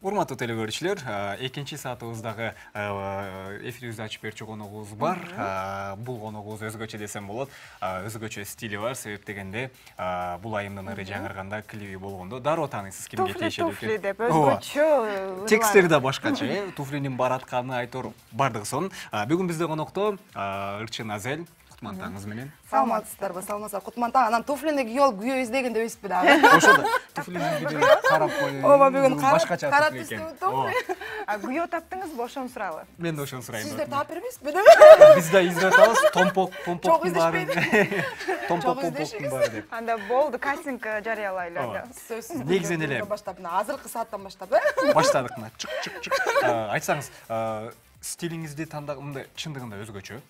Урматтуу телекөрүүчүлөр, экинчи саатыбыздагы эфирибизди ачып берчү коногубуз бар. Бул коногубуз өзгөчө десем болот. Өзгөчө стили бар, себеп дегенде бул айымдын ыры жаңырганда клиби болгондо дароо тааныйсыз кимге тиешелүү экен. Туфли деп өзгөчө. Текстери да башкача, туфлинин баратканы айтор бардыгы сонун. Бүгүн бизде конокто Ырчын Азел. Кутмантаңыз менен. Саламатсыздарбы, саламатсыздар. Кутмантаң, анан туфлини кийип алып күйөө издегенде өйсүппү дагы. Ошодо туфлинин бири карап коюп. Ооба, бүгүн башкача кара туфли экен. туфли. Күйөө таптыңызбы, ошону сурайлы. Мен да ошону сурайм. Сиздер таап бербейсизби? Биз да издеп атабыз, томпоктун баары. Томпоктун баары деп. Анда болду, кастинг жарыялайлы. Сөзсүз. Негизинен эле баштап, азыркы сааттан баштап. Баштадык мына чык. Айтсаңыз, стилиңизди мындай чындыгында өзгөчө.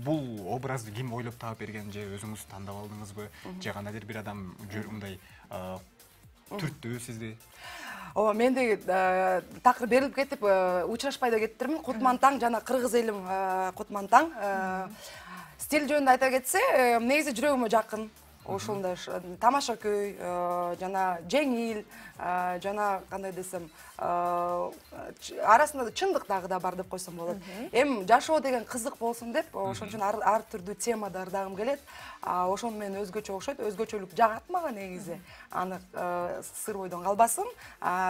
Бул образды ким ойлоп таап берген же өзүңүз тандап алдыңызбы? Же кандайдыр бир адам мындай түрттү сизди? Ооба, менде такыр берилип кетип, учурашпай да кеттирмин. Кутмантаң жана кыргыз элим Кутмантаң. Стиль жөнүндө айта кетсе, негизи жүрөгүмө жакын. Ошондой тамаша көй, жана жеңил, жана кандай десем, арасында чындык дагы да бар деп койсом болот. Эми жашоо деген кызык болсун деп, ошон үчүн ар түрдүү тема дардагым келет. Ошону мен өзгөчө окшойт, өзгөчөлүк жагат мага негизи. Аны сыр бойдон калбасын.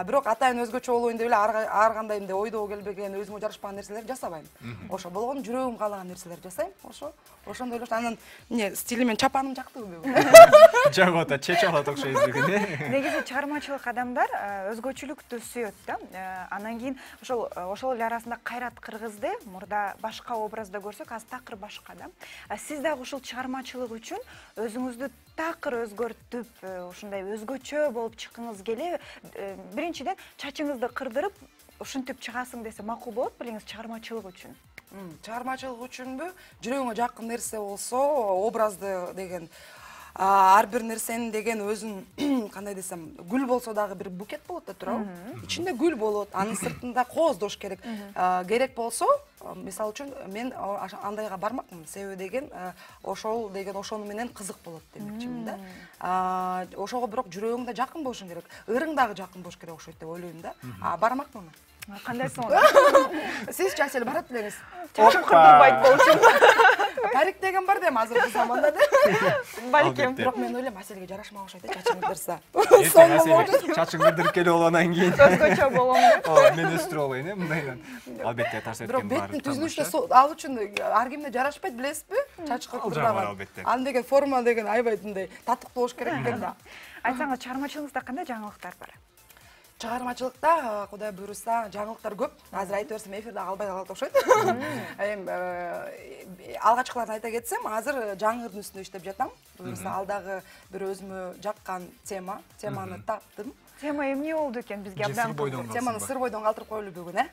Бирок атайын өзгөчө болоюн деп эле ар кандай мындай ойдоо келбеген, өзүмө жарашпаган нерселерди жасабайм. Ошо болгону жүрөгүм каалаган нерселерди жасайм. Ошондой эле. Анан эмне стили мен чапаным жактыбы бүгүн? Жагып атат, чечип алат окшойбуз бүгүн. Негизи чыгармачылык адамдар өзгөчөлүктү сүйөт да. Анан кийин ошол эле арасында Кайрат Кыргызды мурда башка образда көрсөк, азыр такыр башка да. Сиз дагы ушул чыгармачылык үчүн өзүңүздү такыр өзгөртүп, ушундай өзгөчө болуп чыккыңыз келеби? Биринчиден чачыңызды кырдырып, ушинтип чыгасың десе макул болот белеңиз чыгармачылык үчүн? Чыгармачылык үчүнбү? Жүрөгүңө жакын нерсе болсо, образды деген ар бир нерсенин деген өзүн кандай десем, гүл болсо дагы бир букет болот да туурабы? Ичинде гүл болот, анын сыртында кооздош керек. Керек болсо, мисалы үчүн мен андайга бармакмын. Себеби деген ошол деген ошону менен кызык болот демекчимин да. Ошого бирок жүрөгүң да жакын болушу керек. Ырың дагы жакын болуш керек окшойт деп ойлойм да. Бармакмын. Кандай сонун? Сиз Асель барат белеңиз. Чачым кырдырбайт болчу. Парик деген бар да азыркы заманда да. Балким. Бирок мен ойлойм, Аселге жарашмак окшойт да, чачың кырдырса. Чачың кырдырып келип алгандан кийин Өзгөчө болом деп. Мен өстүрүп алайын, мындайдан. Албетте тарс эткен бар. Бирок беттин түзүнүштө ал үчүн ар кимге жарашпайт, билесизби? Чач кырдырган. Ал деген форма деген аябай мындай татыктуу болуш керек экен да. Айтсаңыз, чыгармачылыгыңызда кандай жаңылыктар бар? Чыгармачылыкта Кудай буйруса жаңылыктар көп. Азыр айта берсем эфирде калбай калат окшойт. Алгачкыларын айта кетсем, азыр жаңырдын үстүндө иштеп жатам. Буйруса алдагы бир өзүмө жаккан теманы таптым. Тема эмне болду экен бизге абдан? Теманы сыр бойдон калтырып коелу бүгүн,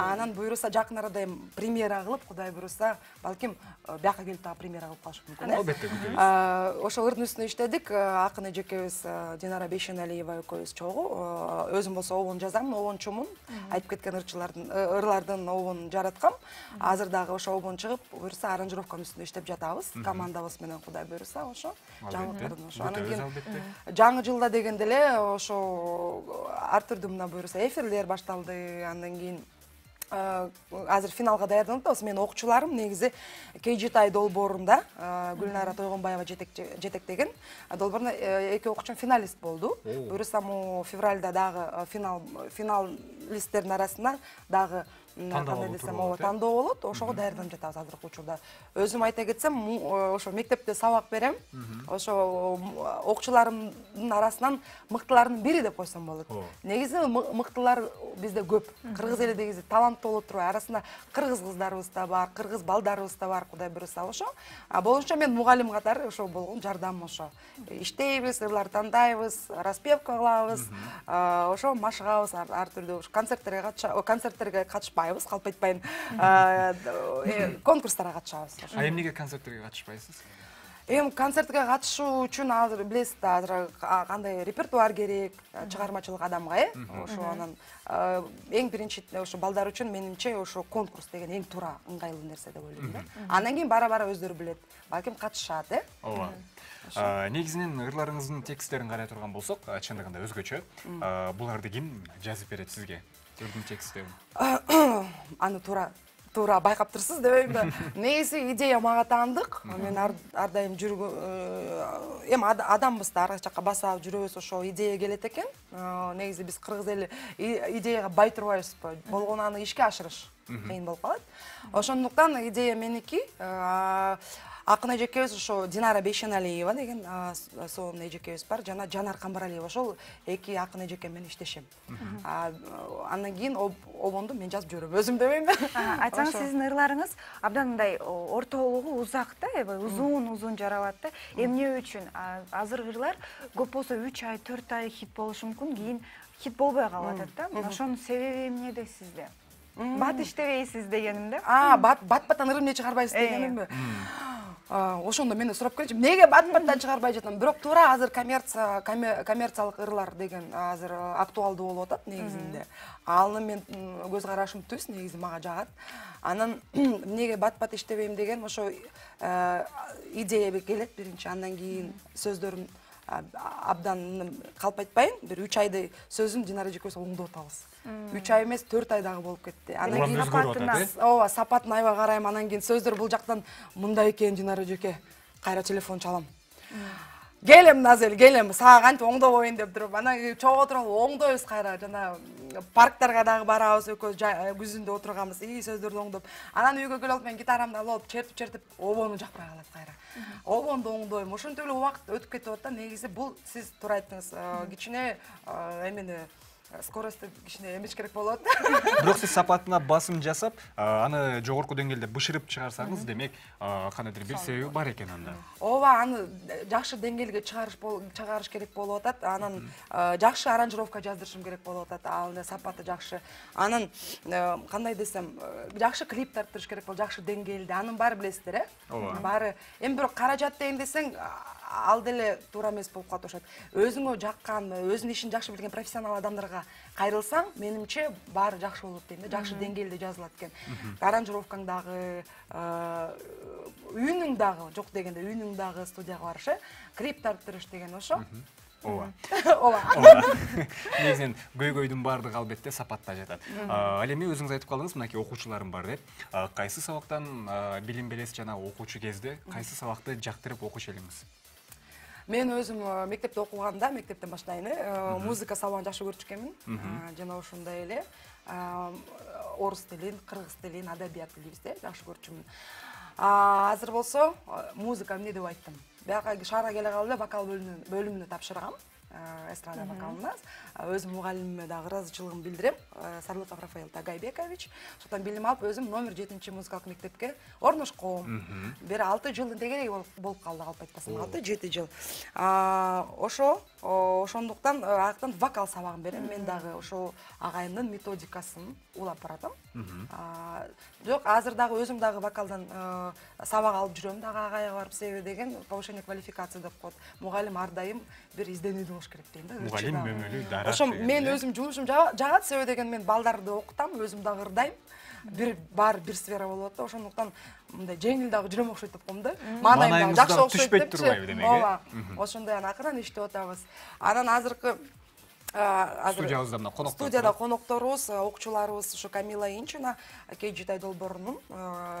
Анан буйруса жакын арада премьера кылып, Кудай буйруса, балким бияка келип дагы премьера кылып калышы мүмкүн. Албетте. Ошол ырдын үстүндө иштедик. Акын эжекебиз Динара Бейшеналиева экөөбүз чогуу. Өзүм болсо обон жазам, обончумун. Айтып кеткен ырлардын обонун жараткам. Азыр дагы ошо обон чыгып, буйруса аранжировканын үстүндө иштеп жатабыз. Командабыз менен Кудай буйруса ошо. Жаңылыктардын ошо. Анан кийин жаңы жылда дегенде эле ошо ар түрдүү мына буйруса эфирлер башталды. Андан кийин азыр финалга даярданып атабыз. Менин окуучуларым негизи KGTI долбоорунда Гүлнара Тойгонбаева жетектеген долбоорунда эки окуучум финалист болду. Буйруса му февралда дагы финалисттердин арасында дагы кандай десем, тандоо болот. Ошого даярданып жатабыз азыркы учурда. Өзүм айта кетсем, ошо мектепте сабак берем. Ошо окуучуларымдын арасынан мыктылардын бири деп койсом болот. Негизи мыктылар бизде көп. Кыргыз эли негизи таланттуу болуп турбайбы? Арасында кыргыз кыздарыбыз да бар, кыргыз балдарыбыз да бар, Кудай буйруса ошо. Болушунча мен мугалим катары ошо болгон жардам ошо. Иштейбиз, ырлар тандайбыз, распевка кылабыз, ошо машыгабыз ар түрдүү концерттерге катышпайбыз, калп айтпайын. Конкурстарга катышабыз. Эмнеге концерттерге катышпайсыз? Эми концертке катышуу үчүн азыр билесиз да, азыр кандай репертуар керек, чыгармачылык адамга, ошо анан эң биринчи ошо балдар үчүн менимче ошо конкурс деген эң туура, ыңгайлуу нерсе деп ойлойм да. Андан кийин бара өздөрү билет, балким катышат, Ооба. Негизинен ырларыңыздын тексттерин карай турган болсок, чындыгында өзгөчө. Буларды ким жазып берет сизге? Ырдын тексттерин. Аны туура байкап турсуз дебейм да. Негизи идея мага таандык. Мен ар дайым эми адамбыз да, ар жакка баса жүрөбүз, ошо идея келет экен. Негизи биз кыргыз эли идеяга бай турбайбызбы? Болгону аны ишке ашырыш кыйын болуп калат. Ошондуктан идея меники. Акын эжекебиз ошо Динара Бейшеналиева деген сонун эжекебиз бар, жана Жанар Камбаралиева, ошол эки акын эжекем менен иштешем. Андан кийин обонду мен жазып жүрөм, өзүм дебейм да. Айтсаңыз, сиздин ырларыңыз абдан мындай ортолугу узак да, аябай узун жаралат да. Эмне үчүн азыркы ырлар көп болсо 3 ай, 4 ай хит болушу мүмкүн, кийин хит болбой калып атат да. Ошонун себеби эмнеде сизде? Бат иштебейсиз дегеним да. Бат-баттан ырым эмне чыгарбайсыз дегенимби? Ошондо мени сурап көрчү, эмнеге бат-баттан чыгарбай жатам? Бирок туура азыр коммерциялык ырлар деген азыр актуалдуу болуп атат негизинде. Аны мен көз карашым түз, негизи мага жагат. Анан эмнеге бат-бат иштебейм деген ошо идея келет биринчи, андан кийин сөздөрүм абдан калпайтпайын, бир 3 айдай сөзүн Динара эжекебиз оңдоп атабыз. 3 ай эмес, 4 ай дагы болуп кетти. Анан кийин ооба, сапатын аябай карайм, анан кийин сөздөр бул жактан мындай экен, Динара эжеке, кайра телефон чалам. Келем Назел, келем, сага кантип оңдобойн деп туруп, анан чогуу отуруп оңдойбуз кайра, жана парктарга дагы барабыз, экөөбүз күзүндө отурганбыз, сөздөрдү оңдоп. Анан үйгө келип мен гитарамды алып чертип обону жакпай калат кайра. Обонду оңдойм. Ошентип эле убакыт өтүп кетип атат. Негизи бул сиз туура айттыңыз, кичине эмени скоросту кичине эмеш керек болот. Бирок сиз сапатына басым жасап, аны жогорку деңгээлде бышырып чыгарсаңыз, демек, кандайдыр бир себеби бар экен анда. Ооба, аны жакшы деңгээлге чыгарыш керек болуп атат. Анан жакшы аранжировка жаздырышым керек болуп атат. Ал сапаты жакшы. Анан кандай десем, жакшы клип тарттырыш керек болуп, жакшы деңгээлде. Анын баары билесиздер, баары. Эми бирок каражат дейин десең, ал деле туура эмес болуп калат ошот. Өзүңө жаккан, өзүнүн ишин жакшы билген профессионал адамдарга кайрылсаң, менимче баары жакшы болот дейм да, жакшы деңгээлде жазылат экен. Аранжировкаң дагы, үнүң дагы, жок дегенде үнүң дагы студияга барыш, клип тарттырыш деген ошо. Ооба. Негизинен көйгөйдүн баардыгы албетте сапатта жатат. Ал эми өзүңүз айтып калдыңыз, мынакей окуучуларым бар деп. Кайсы сабактан билим бересиз жана окуучу кезде кайсы сабакты жактырып окуш элиңиз? Мен өзүм мектепте окуганда, мектептен баштайын, музыка сабагын жакшы көрчү экенмин. Жана ошондой эле орус тилин, кыргыз тилин, адабият дейбизде, жакшы көрчүмүн. Азыр болсо музыка эмне деп айттым. Бияка шаарга келе калып эле вокал бөлүмүнө тапшыргам. Эстрада вокалына. Өзүм мугалимиме дагы ыраазычылыгымды билдирем. Сарлыков Рафаэл Тагайбекович. Ошондон билим алып, өзүм номер 7-музыкалык мектепке орношком. Бир 6 жылдын тегереги болуп калды, калп айтпасам, 6-7 жыл. Ошондуктан аяктан вокал сабагын берем. Мен дагы ошо агайымдын методикасын улап баратам. Жок, азыр дагы өзүм дагы вокалдан сабак алып жүрөм дагы агайга барып, себеби деген повышение квалификации деп коет. Мугалим ар дайым бир изденүүдө болуш керек дейм да. Мугалим мөмөлүү дарак. Ошо мен өзүм жумушум жагат, себеби деген мен балдарды окутам, өзүм дагы ырдайм. Бир сфера болуп атат. Ошондуктан мындай жеңил дагы жүрөм окшойт деп коем да. Маанайым дагы жакшы окшойт деп турбайбы демек. Ооба. Ошондой акырын иштеп атабыз. Анан азыркы студиябызда мына конокторубуз. Студияда конокторубуз, окуучуларыбыз ошо Камила Инчина, Кейжитай Долбоорунун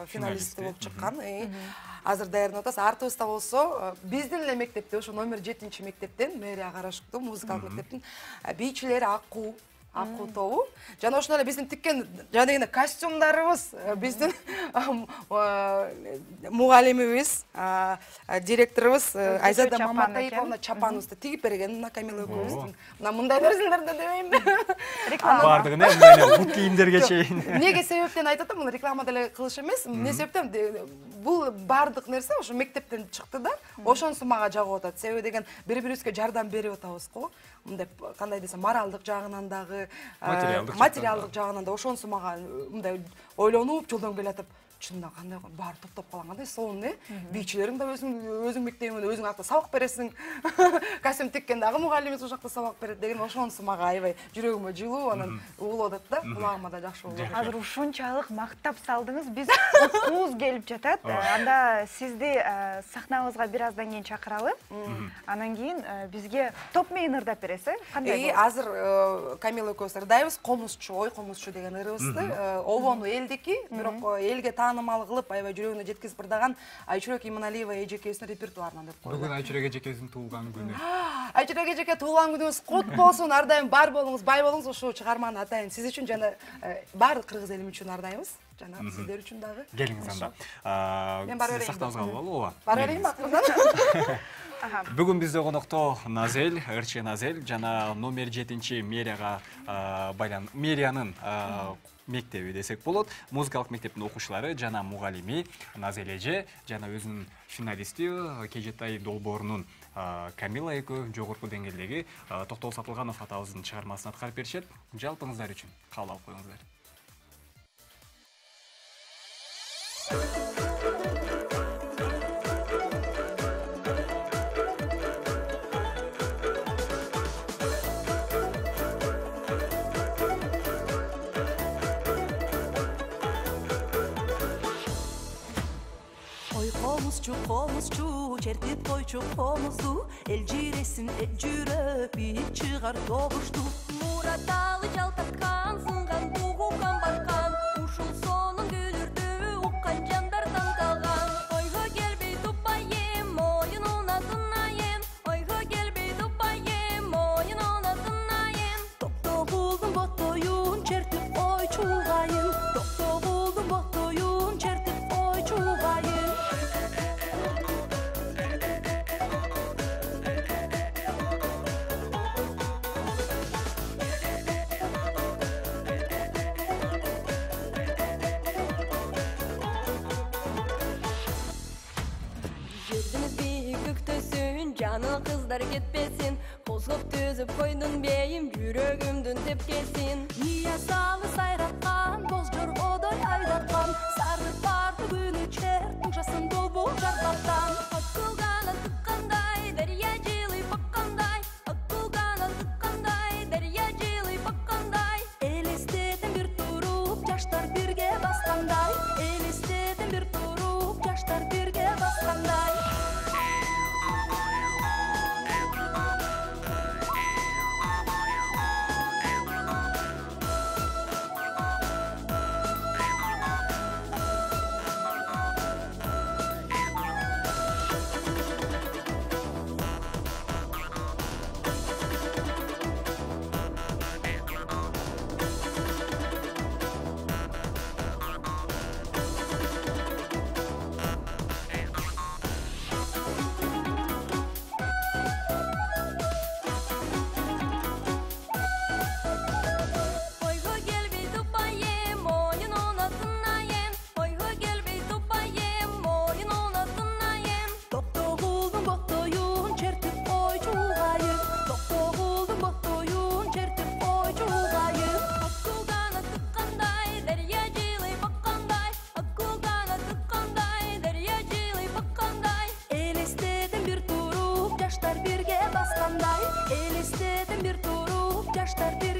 финалисти болуп чыккан. Азыр даярданып атабыз. Артыбызда болсо биздин эле мектепте, ошо номер 7-мектептен, мэрия караштуу музыкалык мектептин бийчилери Акуу тобу. Жана ошондой эле биздин тиккен жана костюмдарыбыз, биздин мугалимибиз, директорубуз Айзада Маматаевна чапаныбызды тигип берген мына Камила экөөбүздүн. Мына мындай берсиңер да дебейм. Реклама бардыгын эмне бут кийимдерге чейин. Эмнеге себептен айтып атам, муну реклама деле кылыш эмес. Эмне себептен бул бардык нерсе ошо мектептен чыкты да, ошонусу мага жагып атат. Себеби деген бири-бирибизге жардам берип атабыз го. Мындай кандай десем, моралдык жагынан дагы, материалдык жагынан да ошонусу мага мындай ойлонуп жолдон келатып, чынында кандай баары топтоп калган кандай сонун бийчилериң да өзүң мектебиңде өзүң акта сабак бересиң костюм тиккен дагы мугалимиз ушул жакта сабак берет деген ошонусу мага аябай жүрөгүмө жылуу анан угулуп атат да кулагыма да жакшы болуп атат. Азыр ушунчалык мактап салдыңыз, биз уткубуз келип жатат. Анда сизди сахнабызга бир аздан кийин чакыралы. Анан кийин бизге топ-мейн ырдап бересиз, кандай болот? Азыр Камила экөөбүз ырдайбыз, комузчу, ой комузчу деген ырыбызды. Обону элдики, бирок элге таанымал кылып, аябай жүрөгүнө жеткизип ырдаган Айчүрөк Иманалиева эжекебиздин репертуарынан деп коелу. Бүгүн Айчүрөк эжекебиздин туулган күнү. Айчүрөк эжеке туулган күнүңүз кут болсун, ар дайым бар болуңуз, бай болуңуз. Ушул чыгарманы атайын сиз үчүн жана баардык кыргыз эли үчүн ардайбыз. Жана сиздер үчүн дагы. Келиңиз анда. Мен бара берейин. Сактабызга алып ооба. Бара берейин акырдан. Бүгүн бизде конокто Назель, РЧ Назель жана номер 7 мэриянын мектеби десек болот. Музыкалык мектептин окуучулары жана мугалими Назель эже жана өзүнүн финалисти Кежетай долбоорунун Камила экөө жогорку деңгээлдеги Токтол Сатылганов атабыздын чыгармасын аткарып беришет. Жалпыңыздар үчүн кабыл алып коюңуздар. Комузчу, чертип койчу комузду, эл жиресин жүрөп, бийик чыгар добушту. Мураталы жалтаткан, сынган бугу камбаркан, ушул сонун күлүрдү уккан жандардан калган. Ойго келбей тупайым, моюнуна тынайым, ойго келбей тупайым, моюнуна тынайым. Токтогулдун боттоюн чертип ой чулгайын, токтогулдун боттоюн чертип ой чулгайын. Жаны кыздар кетпесин, козгоп түзүп койдун бейим, жүрөгүмдүн тепкесин. Ия салы сайраткан, боз жоргодой айдаткан, сары барды күнү чер, тушасын долбол жардактан. Акылганан тыккандай, дарья жылый баккандай, акылганан тыккандай, дарья жылый баккандай. Элестетем бир туруп, жаштар бирге баскандай, элестетем бир туруп, жаштар бирге баскандай. Elestedin bir turup, yaşlar bir